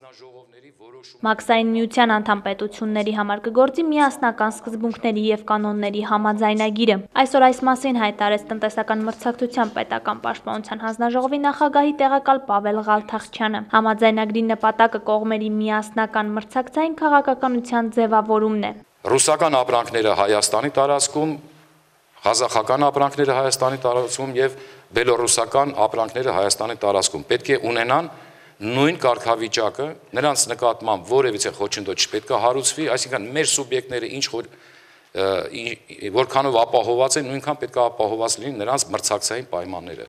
Մաքսային միության անդամ պետությունների համար կգործի միասնական սկզբունքների և կանոնների համաձայնագիրը։ Այսօր այս մասին հայտարարեց տնտեսական մրցակցության պետական պաշտպանության հանձնաժողովի նախագահի տեղակալ Պավել Ղալթախչյանը։ Համաձայնագրի նպատակը կողմերի միասնական մրցակցային քաղաքականության ձևավորումն է։ Ռուսական ապրանքները Հայաստանի տարածքում, ղազախական ապրանքները Հայաստանի տարածքում և բելոռուսական ապրանքները Հայաստանի տարածքում պետք է ունենան նույն կարգավիճակը, նրանց նկատմամբ որևիցե խոչընդոտ չպետք է հարուցվի, այսինքն մեր սուբյեկտները որքանով ապահովված են, նույնքան պետք է ապահովված լինի նրանց մրցակցային պայմանները։